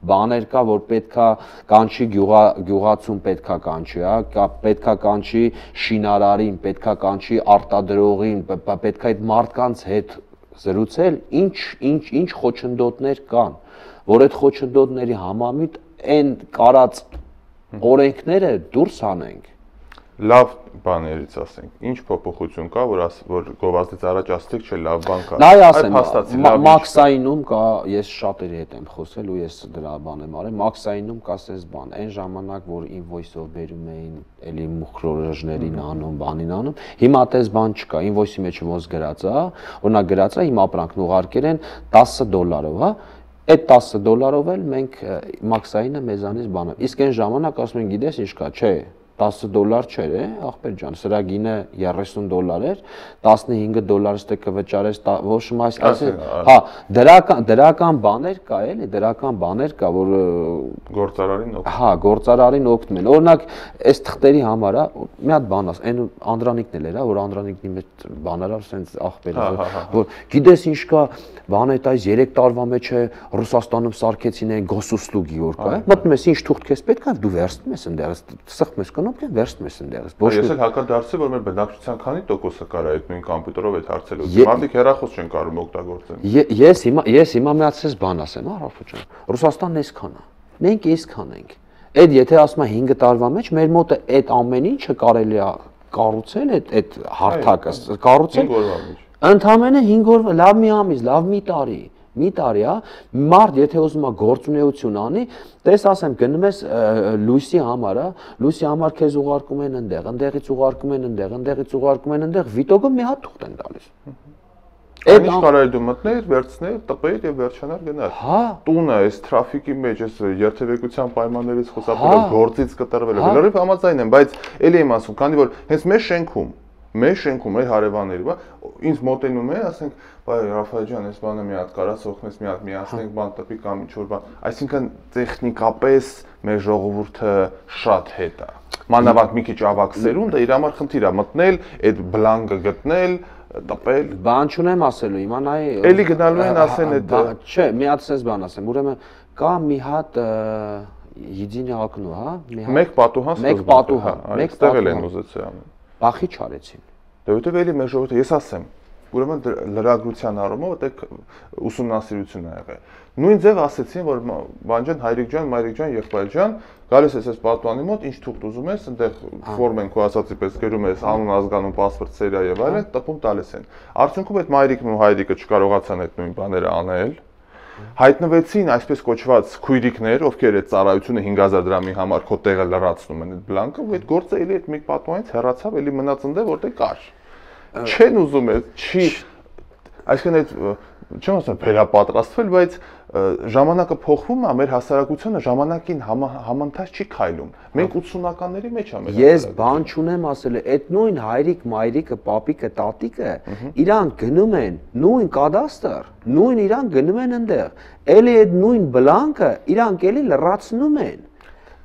S2: բաներ կա, որ պետքա կանչի գյուղացուն պետքա կանչի, հա, պետքա կանչի շինարարին, պետքա կանչի արտադրողին, պետքա այդ մարդկանց հետ զրուցել, ինչ խոչընդոտներ կան, որ այդ խոչընդոտների համամիտ այն կարած օրենքները դուրս անենք։
S1: Լավ բաներից ասենք, ինչ փոփոխություն կա, որ գովազդից առաջ ասացիք, չէ, լավ բան կա։
S2: Նայ ասեմ, Մաքսայինում կա, ես շատերի հետ եմ խոսել ու ես դրա բան եմ արել, Մաքսայինում կա այս բան, այն ժամանակ, որ invoice-ով բերում էին, էլի մուխրորոժներին անում, բանին անում, հիմա այդպես բան չկա, invoice-ի մեջ ոնց գրած է, օրինակ գրած է, իմ ապրանքն ուղարկել են $10, հա, այդ $10 էլ մենք Մաքսայինը մեզանից բանը։ Իսկ այն ժամանակ ասում են, գիտես ինչ կա, չէ, $10 չէր, ախպեր ջան, սրա գինը $30 էր, $15 ստե կվճարես, ոչ այսինքն, հա, դրական բաներ կա, էլի, դրական բաներ կա, որ
S1: գործարարին օգնում։
S2: Հա, գործարարին օգնում են։ Օրինակ, այս թղթերի համար, մի հատ բան ասեմ, այն Անդրանիկն էլ էր, որ Անդրանիկնի մեջ բաներով սենց ախպերը, որ գիտես ինչ կա, բան այդ այս 3 տարվա մեջ է Ռուսաստանում սարքեցին այն գոսուսլուգի որ կա, մտնում ես ինչ թուղթ քեզ պետք է, դու վերցնում ես ընդեղից, սխում ես կնոպկեն, վերցնում ես ընդեղից։
S1: Ես էլ հակադարձի, որ մեր բնակչության քանի տոկոսը կարա այդ նույն կոմպյուտերով այդ հարցերը։ Մարդիկ հեռախոս չեն կարող օգտագործեն։
S2: Ես հիմա միացես բան ասեմ, հա, Ռաֆա ջան։ Ռուսաստանն այսքան է։ Մենք այսքան ենք։ Այդ եթե ասում եմ 5 տարվա մեջ մեր մոտը այդ ամեն ինչը կարելի է կառուցել, այդ հարթակը կառուցել։ Ընդամենը 5 օր, լավ մի ամիս, լավ մի տարի, հա, մարդ եթե ուզում է գործունեություն անի, տես ասեմ գնում ես լույսի համար, հա, լույսի համար քեզ ուղարկում են այնտեղ, այնտեղից ուղարկում են այնտեղ, այնտեղից ուղարկում են այնտեղ, վիտոգը մի հատ թուղթ են տալիս։
S1: Այդ ինչ կարելի դու մտնել, վերցնել, տպել եւ վերջանալ գնալ։
S2: Հա,
S1: տունը այս տրաֆիկի մեջ, այս երթևեկության պայմաններից խուսափելով գործից կտրվելով, լրիվ համաձայն եմ, բայց ելի եմ ասում, քանի որ հենց մեր շենքում մեր հարևանների, բա ինձ մոտենում է, ասենք, բայ Ռաֆայել ջան, այս բանը մի հատ կարաս օգնես, մի հատ միացնենք, բան տպի կամ ինչ-որ բան, այսինքն տեխնիկապես մեր ժողովուրդը շատ հետ է։ Մանավանդ մի քիչ ավակ սերունդը իր համար խնդիր է մտնել, այդ բլանկը գտնել, տպել։
S2: Բան չունեմ ասելու, հիմա նայ
S1: էլի գնալու են ասեն այդ։
S2: Չէ, մի հատ sense բան ասեմ, ուրեմն կա մի հատ Եդինի ակնու, հա,
S1: մեկ պատուհան, այստեղ էլ են ուզեցել ամեն։
S2: Բախի չարեցին։
S1: Դե որտեվ էլի մեր ժողովուրդը, ես ասեմ, ուրեմն լրագրության առումով այդեք ուսումնասիրություն ա եղել։ Նույն ձև ասեցին, որ բան ջան, հայրիկ ջան, մայրիկ ջան, եղբայր ջան, գալիս ես այս պատուանի մոտ, ինչ թուղթ ուզում ես, այնտեղ ֆորմ են քո ասացի պես գրում ես անուն, ազգանուն, պասպորտ, սերիա եւ այլն, տպում տալիս են։ Արդյունքում այդ մայրիկն ու հայրիկը չկարողացան այդ նույն բաները անել։ Հայտնվեցին այսպես կոչված քույրիկներ, ովքեր այդ ծառայությունը 5000 դրամի համար քո տեղը լրացնում են այդ բլանկը, ու այդ գործը էլի այդ մեկ պատուանից հեռացավ, էլի մնաց ընդեղ որտեղ կար։ Չեն ուզում է, չի, այսինքն այդ չեմ ասում վերապատրաստվել, բայց ժամանակը փոխվում է, մեր հասարակությունը ժամանակին համընթաց չի քայլում։ Մենք 80-ականների մեջ ենք։
S2: Ես բան չունեմ ասել, այդ նույն հայրիկ, մայրիկը, պապիկը, տատիկը իրանք գնում են նույն կադաստր, նույն իրանք գնում են այնտեղ։ Էլի այդ նույն բլանկը իրանք էլի լրացնում են։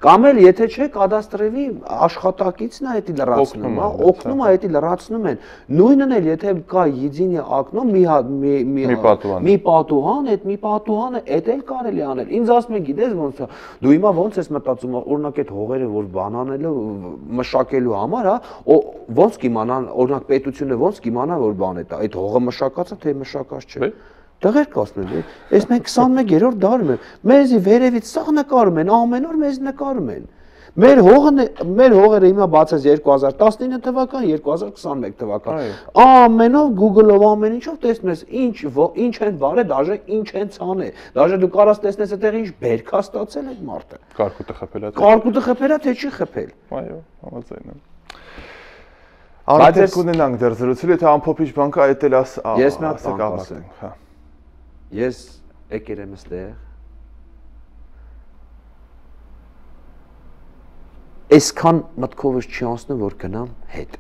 S2: Կամ էլ եթե չէ կադաստրի աշխատակիցն է դա լրացնում, հա, օգնում է դա լրացնում են։ Նույնն էլ եթե կա единое окно, մի պատուհան, այդ մի պատուհանը դա էլ կարելի անել։ Ինձ ասում են, գիտես ոնց է, դու հիմա ոնց ես մտածում, օրինակ այդ հողերը որ բանանելու մշակելու համար, հա, ոնց կիմանան, օրինակ պետությունը ոնց կիմանա որ բան է դա, այդ հողը մշակած է թե մշակած չէ։ Դեղեր կասում են, այս մենք 21-րդ դարում ենք, մեզի վերևից սաղ նկարում են, ամեն օր մեզ նկարում են։ Մեր հողերը հիմա բացած 2019 թվական, 2021 թվական։ Ամեն օր Google-ով ամեն ինչով տեսնում ես ինչ են վարել, դաժե ինչ են ցանել։ Դաժե դու կարաս տեսնես այդտեղ ինչ բերքա ստացել այդ մարդը։
S1: Կարկուտը խփել է։
S2: Կարկուտը խփել է թե չի խփել։
S1: Այո, համաձայն եմ։ Արդեն կունենանք դեռ զրուցել, եթե ամփոփիչ բան կա, այդ էլ ասենք, հա։
S2: Ես եկել եմ այստեղ այսքան մտքովս չի անցնում որ գնամ հետ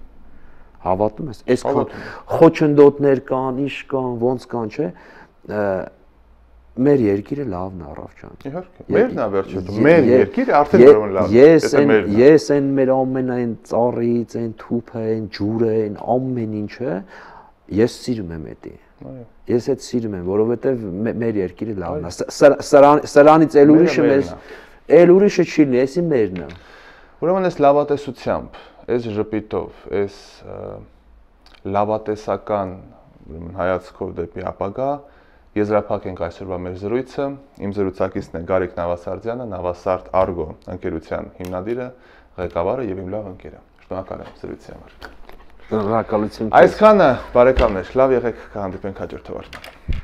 S2: հավատում ես այսքան խոչընդոտներ կան ինչ կան ոնց կան չէ մեր երկիրը լավն է առավ ջան
S1: իհարկե մերն է վերջում մեր երկիրը արդեն ուրեմն լավ է
S2: ես այն մեր ամենայն ծառից այն թուփը այն ջուրը այն ամեն ինչը ես սիրում եմ դա Ես այդ սիրում եմ, որովհետև մեր երկիրը լավն է։ Սրանից էլ ուրիշը չի լինի, էսի մերն է։
S1: Ուրեմն այս լավատեսությամբ, այս ժպիտով, այս լավատեսական հայացքով դեպի ապագա եզրափակ ենք այսօրվա մեր զրույցը։ Իմ զրուցակիցն է Գարիկ Նավասարդյանը, Նավասարդ Argo ընկերության հիմնադիրը, ղեկավարը եւ իմ լավ ընկերը։ Շնորհակալ եմ զրույցի համար։
S2: Շնորհակալություն։
S1: Այսքանը բարեկամներ, լավ եղեք, կհանդիպենք հաջորդ թողարկմանը։